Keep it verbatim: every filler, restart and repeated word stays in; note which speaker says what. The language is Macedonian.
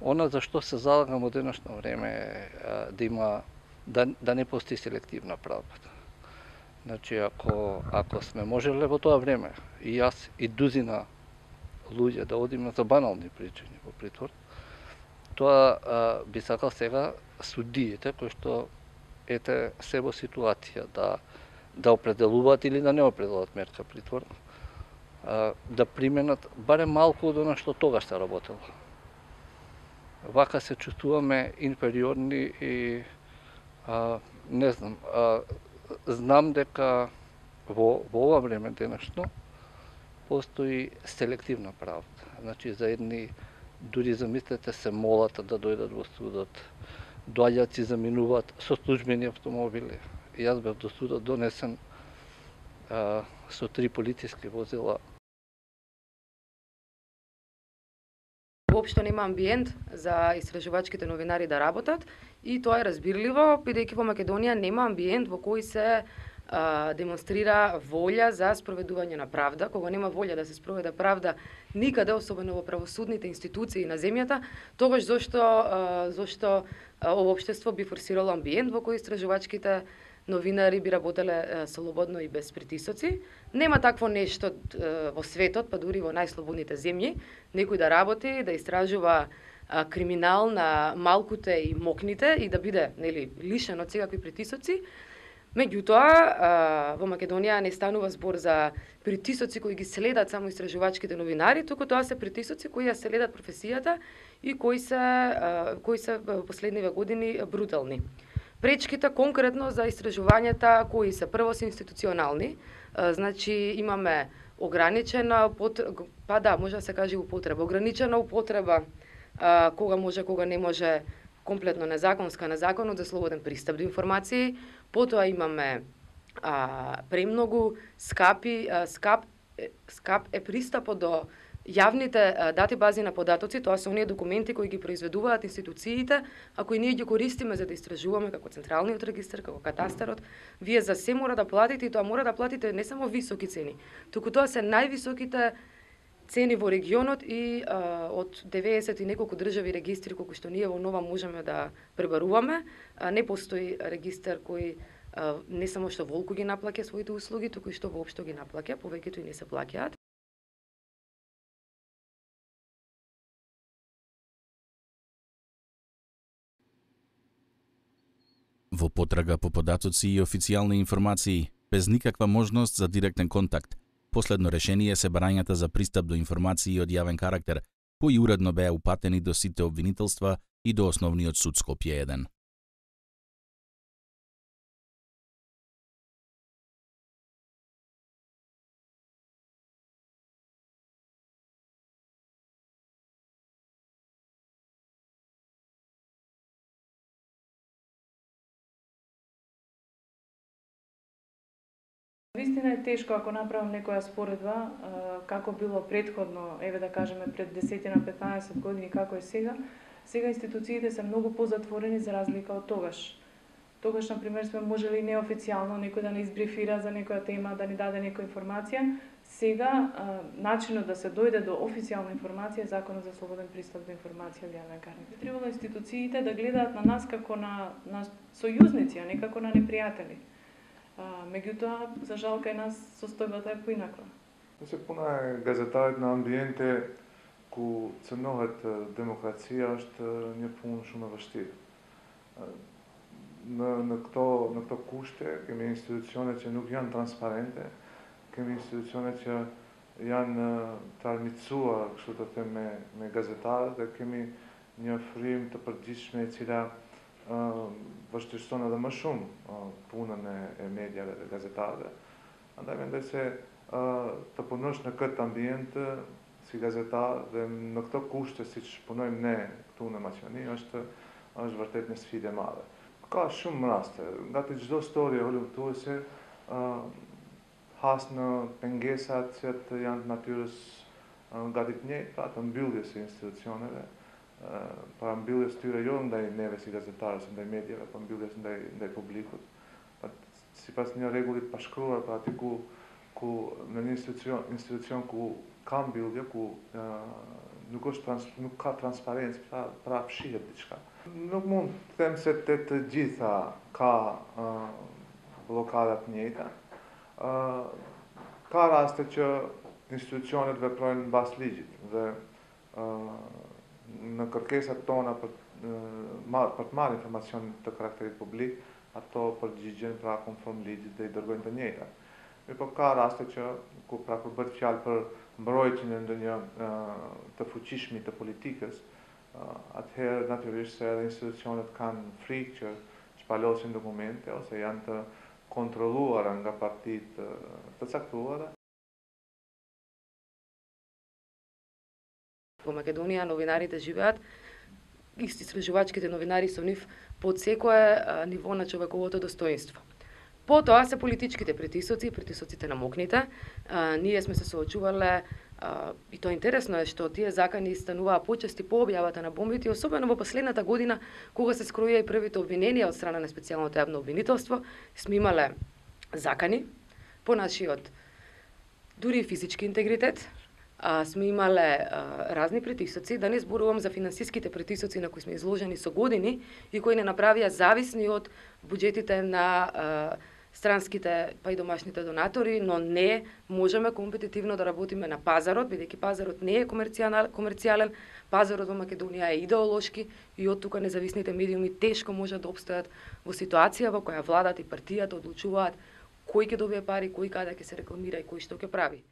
Speaker 1: Она за што се залагам во денешно време е да има да, да не постои селективна правда. Значи, ако, ако сме можеле во тоа време, и јас и дузина луѓе да одиме за банални причини во притвор, тоа а, би сакал сега судиите кои што ете се во ситуација да да определуваат или да не определуваат мерка притвор, а, да применат барем малку од она што тогаш се работело. Вака се чувствуваме инфериорни и а, не знам, а, знам дека во, во ова време денешно постои селективна правда. Значи за едни дури замислете се молат да дојдат во судот, доаѓаат си заминуваат со службени автомобили. Јас бев до судот донесен а, со три полициски возила.
Speaker 2: Воопшто нема амбиент за истражувачките новинари да работат и тоа е разбирливо, бидејќи во Македонија нема амбиент во кој се а, демонстрира волја за спроведување на правда. Кога нема волја да се спроведа правда никаде, особено во правосудните институции на земјата, тогаш зошто а, зошто а, ова општество би форсирало амбиент во кој истражувачките новинари би работеле слободно и без притисоци. Нема такво нешто е, во светот, па дури во најслободните земји, некој да работи, да истражува а, криминал на малкуте и мокните и да биде, нели, лишен од секакви притисоци. Меѓутоа, во Македонија не станува збор за притисоци кои ги следат само истражувачките новинари, туку тоа се притисоци кои ја следат професијата и кои се а, кои се во последниве години брутални. Пречките конкретно за истражувањата кои се прво се институционални, значи имаме ограничена потреба, па да, може да се каже употреба, ограничена употреба кога може, кога не може, комплетно незаконска на законот за слободен пристап до информации. Потоа имаме а, премногу скапи, а, скап, скап е пристапот до јавните дати бази на податоци. Тоа се оние документи кои ги произведуваат институциите, а кои ние ги користиме за да истражуваме, како Централниот регистар, како Катастарот. Вие за се мора да платите и тоа мора да платите не само високи цени, туку тоа се највисоките цени во регионот и а, од деветдесет и неколку држави регистри колку што ние во Нова можеме да пребаруваме. А, не постои регистар кој а, не само што волку ги наплаќа своите услуги, туку и што воопшто ги наплаќа, повеќето и не се плаќаат.
Speaker 3: Во потрага по податоци и официјални информации, без никаква можност за директен контакт, последно решение се барањата за пристап до информации од јавен карактер, кои уредно беа упатени до сите обвинителства и до Основниот суд Скопје еден.
Speaker 4: Вистина е тешко ако направам некоја споредба како било претходно, еве да кажеме пред десет на петнаесет години како е сега. Сега институциите се многу позатворени за разлика од тогаш. Тогаш, на пример, сме можели неофицијално некој да не избрифира за некоја тема, да ни даде некоја информација. Сега начинот да се дојде до официјална информација е Законот за слободен пристап до информација од јавен карактер. Требало институциите да гледаат на нас како на, на сојузници, а не како на непријатели. Меѓутоа, за жал, кај нас состојбата е поинаква.
Speaker 5: Се пуна газетарот на амбиенте ку ценуват демокрација, што не помушува вашти. На на кто на кто куште, ке ми институционите нук јан транспаренте, ке ми институционите јан тармицуа, што да те ме ме газетарот, да ке ми не фрим та предишме цира Вашето што на да машум пуна не е медија газетаде. А да мен да се та понош на кът амбиент си газета да на кто куште си поноим не ту на мачани, ашта аш вартет не сфиде мале. Ка шум расте. Гати до сторија олим ту се хасна пенгесат сет јан натурс гадит не пратам билде се институционеле. Pa bile styra da i neve si gazetare, da i medijeve, pa bile da i da i publikut. Pa si pas një reguli pa shkruar, pa aty ku ku në një institucion institucion ku kam bildje, ku nuk është trans, nuk ka transparencë, pra, pra fshihet diçka. Nuk mund të them se të të gjitha ka uh, blokada të njëjta. Uh, ka raste që institucionet veprojnë mbas ligjit dhe uh, në kërkesat tona për, uh, për të marrë informacion të karakterit publik, ato përgjigjen pra konform ligjit dhe i dërgojnë të njëjta. Mirë po ka raste që ku pra kur bëhet fjalë për mbrojtjen e ndonjë uh, të fuqishmi të politikës, uh, atëherë natyrisht se edhe institucionet kanë frikë që shpalosin dokumente ose janë të kontrolluara nga partitë të caktuara.
Speaker 2: Во Македонија новинарите живеат, истражувачките новинари со нив под секое ниво на човековото достоинство. Потоа се политичките притисоци, притисоците на мокните. А, ние сме се соочувале, а, и тоа интересно е што тие закани стануваа почести по објавата на бомбите, особено во последната година, кога се скроија и првите обвиненија од страна на специјалното јавно обвинителство, сме имале закани по нашиот дури и физички интегритет, а, сме имале а, разни притисоци, да не зборувам за финансиските притисоци на кои сме изложени со години и кои не направија зависни од буџетите на а, странските па и домашните донатори, но не можеме компетитивно да работиме на пазарот, бидејќи пазарот не е комерцијален, пазарот во Македонија е идеолошки и од тука независните медиуми тешко можат да обстојат во ситуација во која владата и партијата одлучуваат кој ќе добие пари, кој каде ќе се рекламира и кој што ќе прави.